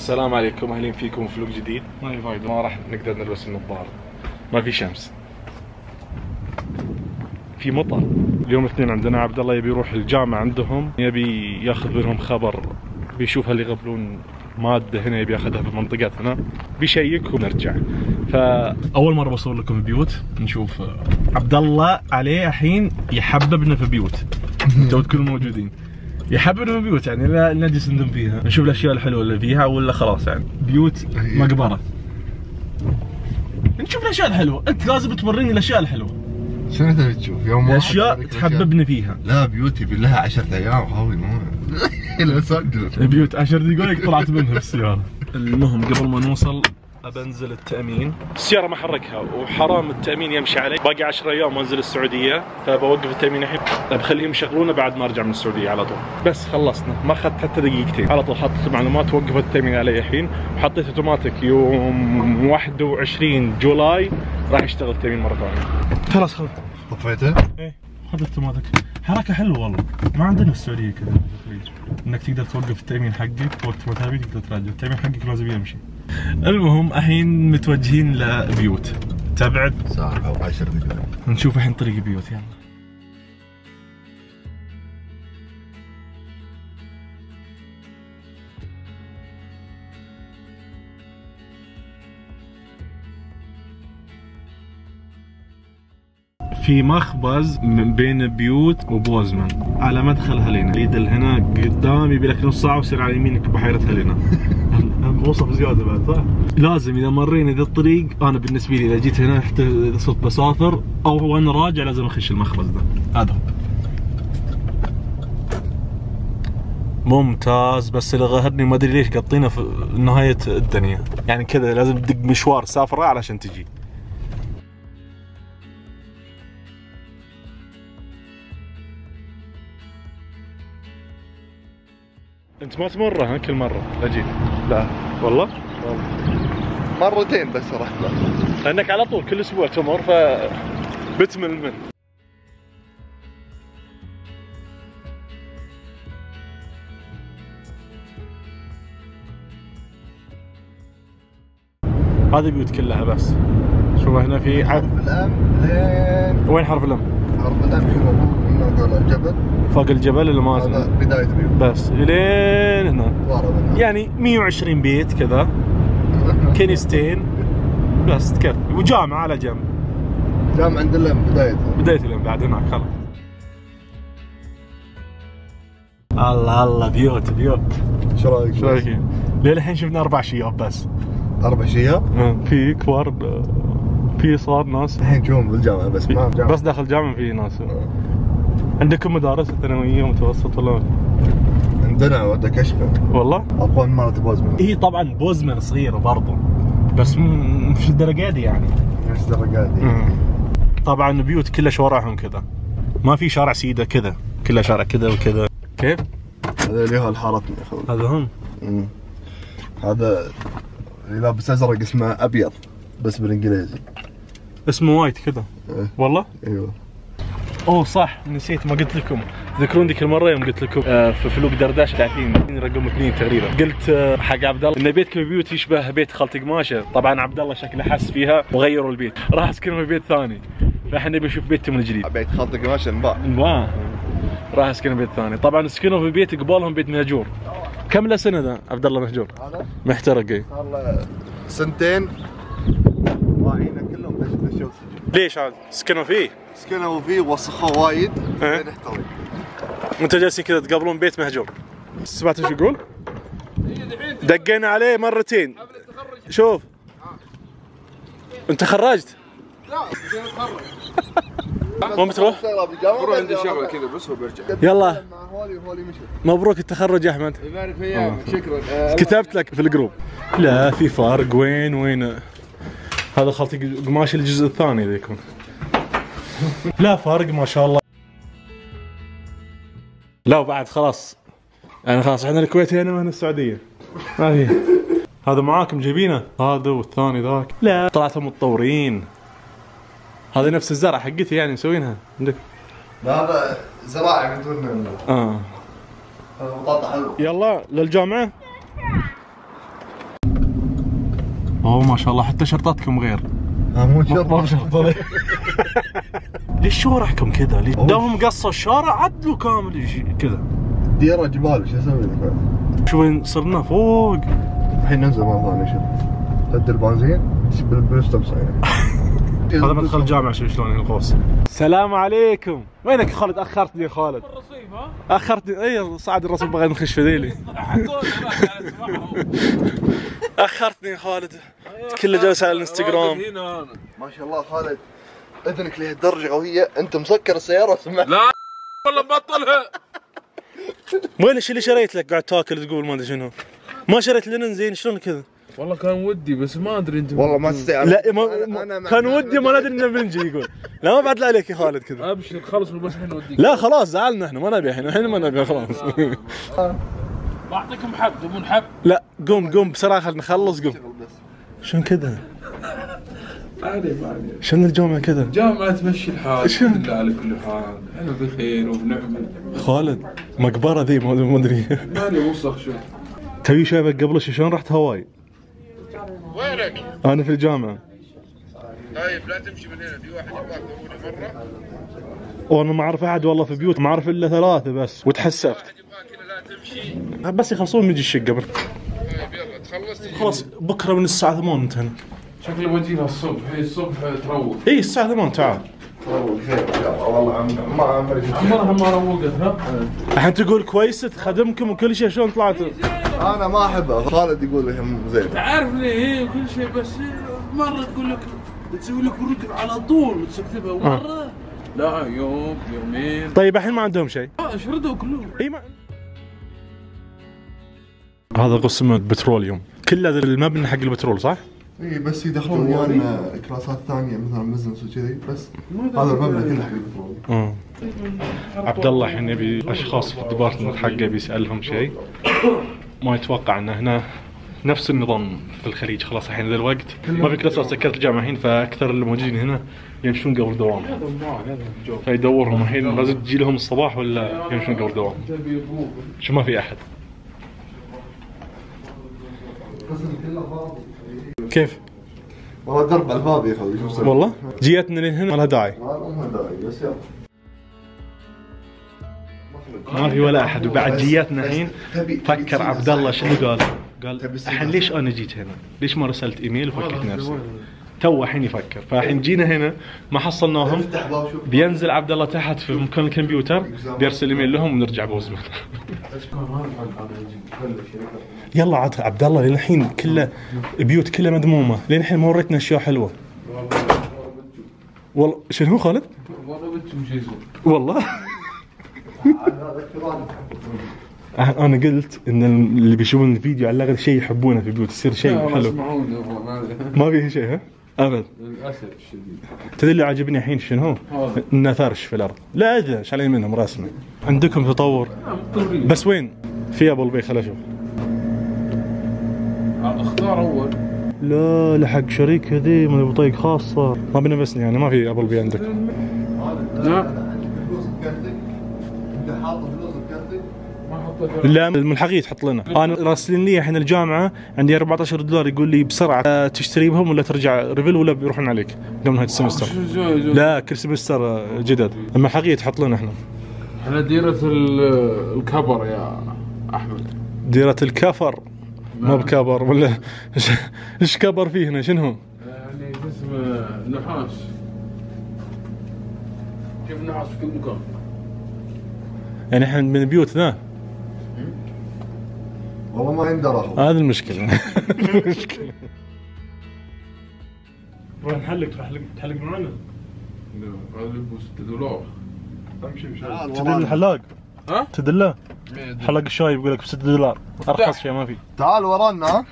السلام عليكم، اهلين فيكم في فلوق جديد. ما في فايدة، ما راح نقدر نلبس النظارة، ما في شمس، في مطر. اليوم الاثنين عندنا عبد الله يبي يروح الجامعة عندهم، يبي ياخذ منهم خبر، بيشوف هل يقبلون مادة هنا يبي ياخذها في منطقتنا، بيشيك ونرجع. فأول مرة بصور لكم بيوت، نشوف عبد الله عليه الحين يحببنا في بيوت. انتوا تكونوا موجودين، يحببنا في بيوت يعني لا نجلس ندم فيها، نشوف الاشياء الحلوه اللي فيها ولا خلاص يعني بيوت مقبره. نشوف الاشياء الحلوه، انت لازم توريني الاشياء الحلوه. شنو تبي تشوف؟ يوم واحد اشياء تحببني فيها. لا بيوت يبي لها 10 ايام خاوي مو لا صدق. بيوت 10 دقائق طلعت منها بالسياره. المهم قبل ما نوصل بنزل التأمين، السيارة ما حركها وحرام التأمين يمشي علي، باقي 10 ايام وانزل السعودية، فبوقف التأمين الحين بخليهم يشغلونه بعد ما ارجع من السعودية على طول. بس خلصنا، ما اخذت حتى دقيقتين، على طول حطيت المعلومات ووقفت التأمين علي الحين، وحطيت اوتوماتيك يوم 21 جولاي راح يشتغل التأمين مرة ثانية. خلاص خلاص طفيته؟ ايه حطيت اوتوماتيك، حركة حلوة والله، ما عندنا في السعودية كذا انك تقدر توقف التأمين حقك وقت ما تبي تقدر ترجع، التأمين حقك لازم يمشي. المهم الحين متوجهين لبيوت تبعد ساعة أو 10 دقائق، نشوف الحين طريق بيوت. يلا في مخبز من بين بيوت وبوزمان على مدخل هلينا، ليدل هنا قدام يبي لك نص ساعة ويصير على يمينك بحيرة هلينا. وصف زيادة بعد صح؟ لازم إذا مرينا ذا الطريق، أنا بالنسبة لي إذا جيت هنا صرت بسافر أو وأنا راجع لازم أخش المخبز ده، هذا ممتاز. بس اللي غهرني ما أدري ليش قاطينه في نهاية الدنيا، يعني كذا لازم تدق مشوار سافرة علشان تجي. انت ما تمرها كل مرة لا جيت؟ لا والله؟ مرتين بس رحت له، لانك على طول كل اسبوع تمر بتمل منه. هذه بيوت كلها بس. شوف هنا في حرف الام لين وين حرف الام؟ حرف الام هنا فوق الجبل، فوق الجبل اللي ما هذا بداية بيوت بس الين هنا يعني 120 بيت كذا، كنيستين بس تكفي، وجامعة على جنب. جامعة عند الام بداية الام بعد هناك خلاص. الله الله بيوت بيوت. شو رايك؟ شو رايك؟ للحين شفنا 4 شياب بس. 4 شياب؟ في كبار، في صغار ناس. الحين نشوفهم بالجامعة بس ما جامعة. بس داخل الجامعة في ناس. عندكم مدارس ثانوية ومتوسط ولا؟ عندنا ودك كشفة والله؟ أقوى من مرة بوزمان. هي طبعا بوزمان صغيرة برضو، بس مش الدرجة دي يعني. مش الدرجة دي. طبعا بيوت كلها شوارعهم كذا، ما في شارع سيدة كذا، كلها شارع كذا وكذا. كيف؟ هذا اللي هو الحارتنا يا اخوي. هذا هم. هذا اللي لابس ازرق اسمه ابيض بس بالانجليزي. اسمه وايت كذا. إيه. والله؟ ايوه. اوه صح نسيت ما قلت لكم، تذكرون ذيك المره يوم قلت لكم في فلوق درداش 30 رقم 2 تقريبا، قلت حق عبد الله ان بيتكم بيوت يشبه بيت خالتي قماشه. طبعا عبد الله شكله حس فيها وغيروا البيت، راح اسكنهم في بيت ثاني، فاحنا نبي نشوف بيتي من جديد. بيت خالتي قماشه انباع، راح اسكنهم بيت ثاني. طبعا سكنوا في بيت قبالهم بيت مهجور. كم له سنه ذا عبد الله مهجور؟ هذا محترق. اي صار له 2 سنين، واعينه كلهم دشوا السجن. ليش عاد سكنوا فيه؟ سكنوا فيه ووسخوه وايد لين احترق. وانتوا جالسين كذا تقابلون بيت مهجور. سمعت ايش يقول؟ دقينا عليه مرتين. شوف انت تخرجت؟ لا اتخرج. وين بتروح؟ بروح عندي شغله كذا بس وبرجع. يلا هولي مشى. مبروك التخرج يا احمد. يبارك في ايامك شكرا. كتبت لك في الجروب. لا في فرق. وين هذا خلطي قماش الجزء الثاني ذا يكون. لا فرق ما شاء الله. لا وبعد خلاص يعني خلاص احنا الكويت هنا وهنا السعوديه. ما في. هذا معاكم جايبينه هذا والثاني ذاك. لا طلعتوا متطورين. هذه نفس الزرع حقتي يعني مسوينها عندك. لا هذا زراعي من دون هذا بطاطا حلو. يلا للجامعه. اوه ما شاء الله حتى شرطاتكم غير. مو شرط ما بشرط. ليش شوارعكم كذا؟ ليش دامهم قصوا الشارع عدلوا كامل كذا؟ ديرة جبال شو اسوي لك؟ شو وين صرنا فوق؟ الحين ننزل مرة ثانية. شوف قد البنزين بالستوب ساين. هذا مدخل الجامعة. شوف شلون الغوص. السلام عليكم. وينك يا خالد؟ اخرتني يا خالد. الرصيف ها؟ اخرتني. اي صعد الرصيف بغيت نخش في ذيلي. اخرتني يا خالد. كله جالس على الانستغرام. ما شاء الله خالد اذنك لهالدرجة قوية، انت مسكر السيارة وسمعت. لا والله بطلها. وين الشيء اللي شريت لك قاعد تاكل تقول ما ادري شنو؟ ما شريت لنا زين شلون كذا؟ والله كان ودي بس ما ادري انت. والله ما تستاهل. لا كان ودي ما ندري انه بنجي يقول. لا ما بعد لا عليك يا خالد كذا. ابشر خلص بس الحين نوديك. لا خلاص زعلنا احنا ما نبي الحين ما نبي خلاص. بعطيكم حب تبون حب؟ لا قوم بسرعه خلينا نخلص قوم. شلون كذا؟ عادي ما عليك. شلون الجامعه كذا؟ جامعة تمشي الحال الحمد لله على كل حال، احنا بخير وبنعمة. خالد مقبره ذي ما ادري. مالي وسخ شو. توي شايفك قبل شلون رحت هواي؟ وينك؟ انا في الجامعه. طيب لا تمشي من هنا، في واحد يبغاك ضروري مرة. وانا ما اعرف احد والله في بيوت، ما اعرف الا 3 بس وتحسفت. واحد يبغاك هنا لا تمشي. بس يخلصون نجي الشقه. طيب يلا تخلص تجي. خلاص بكره من الساعه 8 انت هنا. شكله بجينا الصبح، هي الصبح تروق. اي الساعه 8 تعال. والله خير ان شاء الله. والله ما عمري عمرها ما روقت ها؟ الحين تقول كويس تخدمكم وكل شيء، شلون طلعتوا؟ انا ما احبها. خالد يقول هم زين. تعرفني هي كل شيء بس مرة تقول لك تسوي لك رتب على طول تكتبها ومرة لا يوم يومين. طيب الحين ما عندهم شيء. شردوا كلهم. اي ما هذا قسم البتروليوم، كل هذا المبنى حق البترول صح؟ اي بس يدخلون يعني كلاسات ثانية مثلا بزنس وكذي بس. هذا المبنى كله حق البترول. عبد الله الحين يبي اشخاص في الديبارتمنت حقه بيسالهم شيء، ما يتوقع انه هنا نفس النظام في الخليج. خلاص الحين ذا الوقت ما في كلاسات، سكرت الجامعه الحين، فاكثر اللي موجودين هنا يمشون قبل دوام، فيدورهم الحين لازم تجي لهم الصباح ولا يمشون قبل دوام. شو ما في احد. كيف؟ والله درب على الفاضي يا اخوي. شوف والله جيتنا لين هنا ما لها داعي. ما لها داعي بس يلا. ما في ولا احد. وبعد جيتنا الحين فكر عبد الله شنو قال؟ قال الحين ليش انا جيت هنا؟ ليش ما رسلت ايميل وفكرت نفسي؟ تو الحين يفكر. فالحين جينا هنا ما حصلناهم، بينزل عبد الله تحت في مكان الكمبيوتر بيرسل ايميل لهم ونرجع بوزمه. يلا عاد عبد الله لين الحين كله بيوت كلها مذمومه، لين الحين ما وريتنا اشياء حلوه. والله شنو خالد؟ والله انا قلت ان اللي بيشوفون الفيديو على الاقل شيء يحبونه في بيوت، يصير شيء حلو. ما فيه شيء ها؟ ابد للاسف الشديد. تدري اللي عجبني الحين شنو؟ انه فرش في الارض. لا ادري شالين منهم رسمه. عندكم تطور بس وين؟ في ابو البي خل اشوف. اختار اول. لا لحق شريك ذي من بطيق خاصه، ما بنفسني يعني. ما في ابو البي عندك؟ لا انت حاط فلوس بكارتك؟ لا من الحقيقة تحط لنا. انا راسلين لي الحين الجامعه عندي $14 يقول لي بسرعه تشتري بهم ولا ترجع ريفل ولا بيروحون عليك قبل نهايه السمستر. لا كل سمستر جدد. اما الحقيقة تحط لنا احنا. احنا ديرة الكبر يا احمد. ديرة الكفر ما بكبر ولا ايش كبر فيه هنا شنو هو؟ يعني اسمه نحاس. كيف نحاس في كل مكان. يعني احنا من بيوت ذا. والله ما عندنا رخص. هذه المشكلة. المشكلة. روح نحلق تحلق معنا. هذا ب $6. امشي تدل الحلاق؟ ها؟ تدله؟ حلاق الشاي يقول لك ب$6 ارخص شيء ما في. تعال ورانا. ها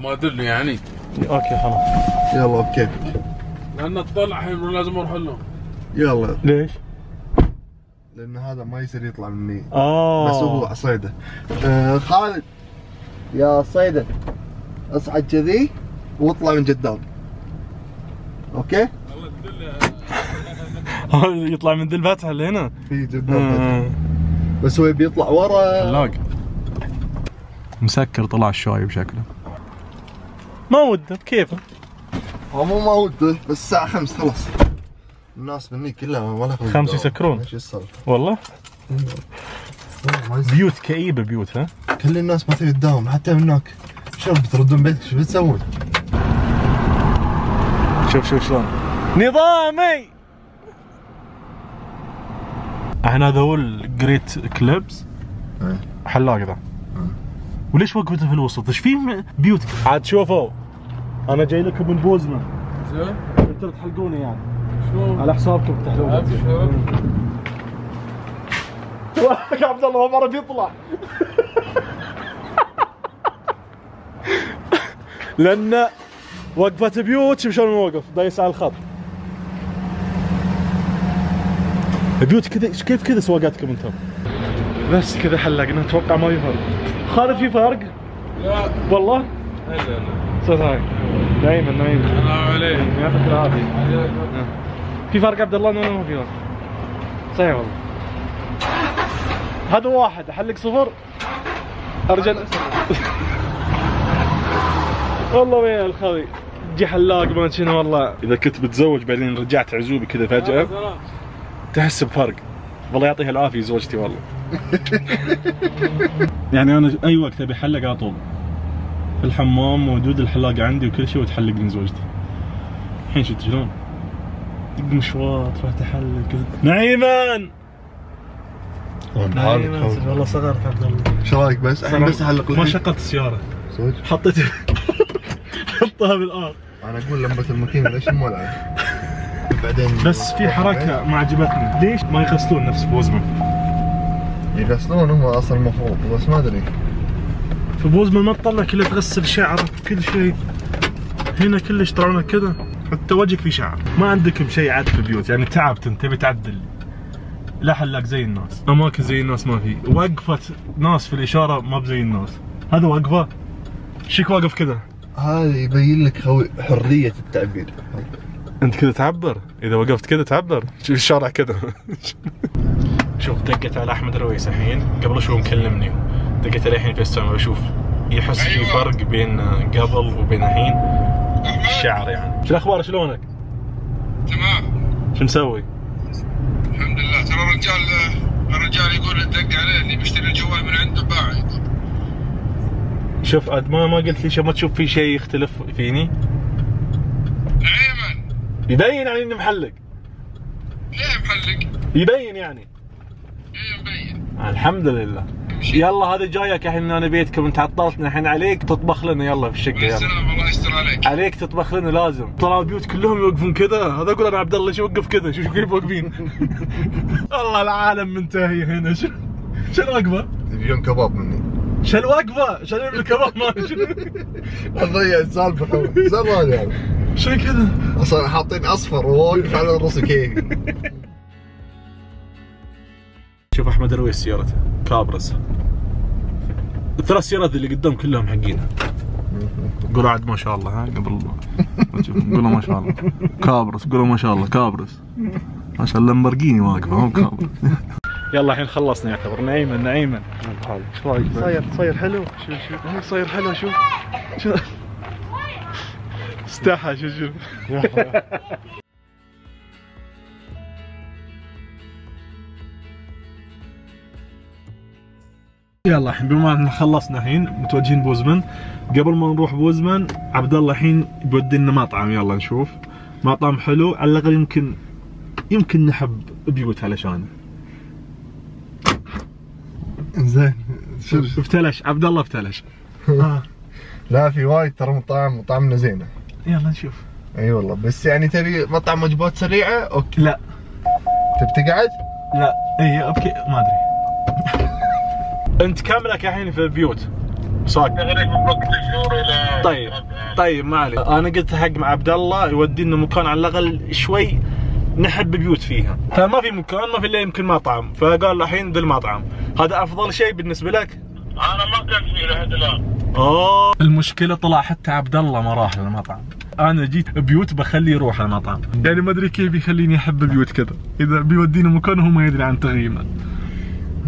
ما ادري يعني. اوكي خلاص. يلا اوكي. لان تطلع الحين لازم اروح لهم. يلا. ليش؟ لان هذا ما يصير يطلع مني. بس هو صيده. خالد يا صيده اصعد كذي واطلع من قدام. اوكي؟ يطلع من ذي الفتحة اللي هنا؟ في قدام. بس هو بيطلع ورا. حلاق مسكر طلع الشاي بشكله. ما وده بكيفه. هو مو ما وده بس الساعة 5 خلاص. الناس مني كلها ولا 5 يسكرون. ايش السالفة؟ والله؟ بيوت كئيبة بيوت ها؟ كل الناس ما تبي تداوم حتى من هناك. شلون بتردون بيتك شو بتسوون؟ شوف شلون نظامي. احنا هذا هو الجريت كليبس حلاق ذا. وليش وقفته في الوسط؟ ايش في بيوت؟ عاد شوفوا انا جاي لكم من بوزمان. زين. انتوا تحلقوني يعني. شلون؟ على حسابكم تحلقون. يا عبد الله ما مرة بيطلع. لأن وقفة بيوت شوف شلون موقف دايس على الخط. بيوت كذا كيف كذا سواقاتكم انتم؟ بس كذا حلقنا اتوقع ما في فرق. خالد في فرق؟ لا والله؟ لا استاذ هاي نايم السلام عليكم. يعطيك العافية. في فرق عبد الله؟ ولا ما في فرق؟ صحيح والله. هذا واحد احلق صفر ارجع. والله ويا الخوي جي حلاق ما شنو والله. اذا كنت بتزوج بعدين رجعت عزوبي كذا فجأة تحس بفرق. والله يعطيها العافية زوجتي والله. يعني انا اي وقت ابي احلق على طول في الحمام موجود الحلاق عندي وكل شيء وتحلقني زوجتي. الحين شفت شلون؟ دق مشوار تروح تحلق كذا. نعيمان والله صغرت عبد الله. ايش رايك بس؟ الحين بس احلق ما شغلت السيارة. صدق؟ حطيت حطها بالارض. انا اقول لمبة الماكينة ليش مولعة؟ بعدين بس في حركة ما عجبتني، ليش ما يغسلون نفس بوزمان؟ يغسلون هم اصلا المفروض بس ما ادري. في بوزمان ما تطلع كله تغسل شعرك كل شيء. هنا كلش طلعنا كذا حتى وجهك في شعر. ما عندكم شيء عاد في البيوت يعني تعبت انت تبي تعدل. لا حلاق زي الناس، اماكن زي الناس ما في، وقفة ناس في الاشارة ما بزي الناس. هذا وقفة شيك واقف كذا. هذا يبين لك حرية التعبير. انت كذا تعبر، اذا وقفت كذا تعبر، شوف الشارع كذا. شوف دقت على احمد رويس الحين قبل شوي مكلمني، دقت عليه الحين في السماء بشوف يحس في فرق بين قبل وبين الحين الشعر يعني. شو الاخبار شلونك؟ تمام. شو مسوي؟ الحمد لله. ترى الرجال يقول دق عليه اني بشتري الجوال من عنده باع يقول. شوف عاد ما قلت لي ما تشوف في شيء يختلف فيني؟ نعيما يبين يعني اني محلق. ليه محلق؟ يبين يعني. ايه مبين. الحمد لله. يلا هذا جايك الحين انا بيتكم انت عطلتنا الحين عليك تطبخ لنا يلا في الشقه. يلا السلام الله يستر عليك. عليك تطبخ لنا لازم. طلعوا البيوت كلهم يوقفون كذا. هذا اقول انا عبد الله ليش يوقف كذا؟ شوف كيف واقفين. والله العالم منتهي هنا. شو الوقفه؟ يبيون كباب مني. شو الوقفه؟ شو الكباب مالي؟ اضيع السالفة زمان يعني. شو كذا؟ اصلا حاطين اصفر وواقف على الرص كيفي. شوف احمد رويس سيارته كابرس. الثلاث سيارات اللي قدام كلهم حقينها. قولوا عاد ما شاء الله ها قبل قولوا ما شاء الله كابرس. قولوا ما شاء الله كابرس. ما شاء الله لامبورجيني واقفه مو كابرس. يلا الحين خلصنا يعتبر. نعيما ايش رايك؟ صاير حلو. شوف صاير حلو. شوف استحى. شوف يلا الحين بما ان خلصنا الحين متوجهين بوزمان. قبل ما نروح بوزمان عبد الله الحين بيودينا مطعم. يلا نشوف مطعم حلو على الاقل يمكن نحب بيوت علشانه. زين افتلش عبد الله افتلش. لا في وايد ترى مطاعمنا زينه. يلا نشوف. اي والله بس يعني تبي مطعم وجبات سريعه اوكي. لا تبي تقعد؟ لا اي اوكي ما ادري. انت كاملك الحين في بيوت صاق. طيب ما عليك. انا قلت حق مع عبد الله يودينا مكان على الاقل شوي نحب بيوت فيها. فما في مكان ما في الا يمكن مطعم. فقال الحين ذا المطعم هذا افضل شيء بالنسبه لك. انا ما كنت فيه لحد الان. المشكله طلع حتى عبد الله ما راح للمطعم. انا جيت بيوت بخليه يروح المطعم. يعني ما ادري كيف يخليني احب بيوت كذا اذا بيودينا مكان وهو ما يدري عن تغييمه.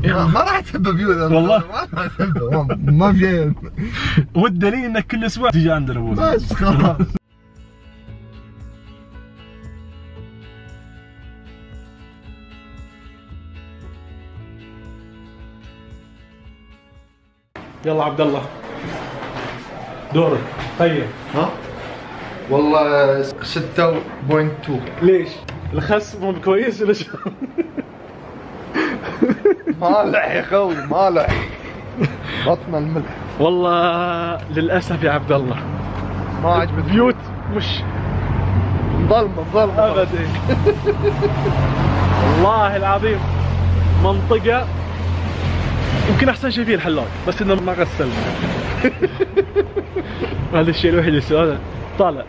ما راح تسبب يوذر والله ما راح تسبب ما في شيء. والدليل انك كل اسبوع تجي عندنا بوزة. بس خلاص. يلا عبد الله دورك طيب. ها؟ والله 6.2. ليش؟ الخس مو كويس ولا شو؟ مالح يا خوي مالح. بطن الملح. والله للاسف يا عبد الله ما عجبت بيوت مش مظلمة ابدا. والله العظيم منطقة يمكن احسن شيء فيه الحلاق بس انه ما غسلنا. هذا الشيء الوحيد اللي سؤاله طالع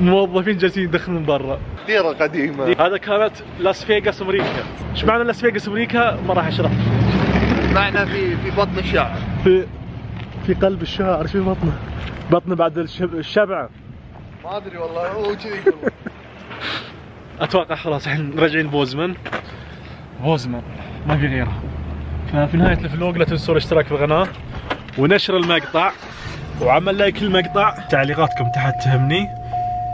موظفين جالسين يدخلون برا. ديرة قديمة. هذا كانت لاس فيغاس امريكا. ايش معنى لاس فيغاس امريكا؟ ما راح اشرح. معنى في بطن الشعر. في قلب الشعر. شو بطنه؟ بطنه بعد الشبعة. ما ادري والله هو كذي يقول. اتوقع خلاص الحين راجعين بوزمان ما في غيره. ففي نهاية الفلوق لا تنسوا الاشتراك في القناة ونشر المقطع وعمل لايك للمقطع. تعليقاتكم تحت تهمني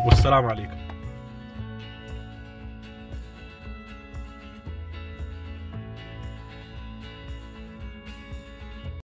والسلام عليكم.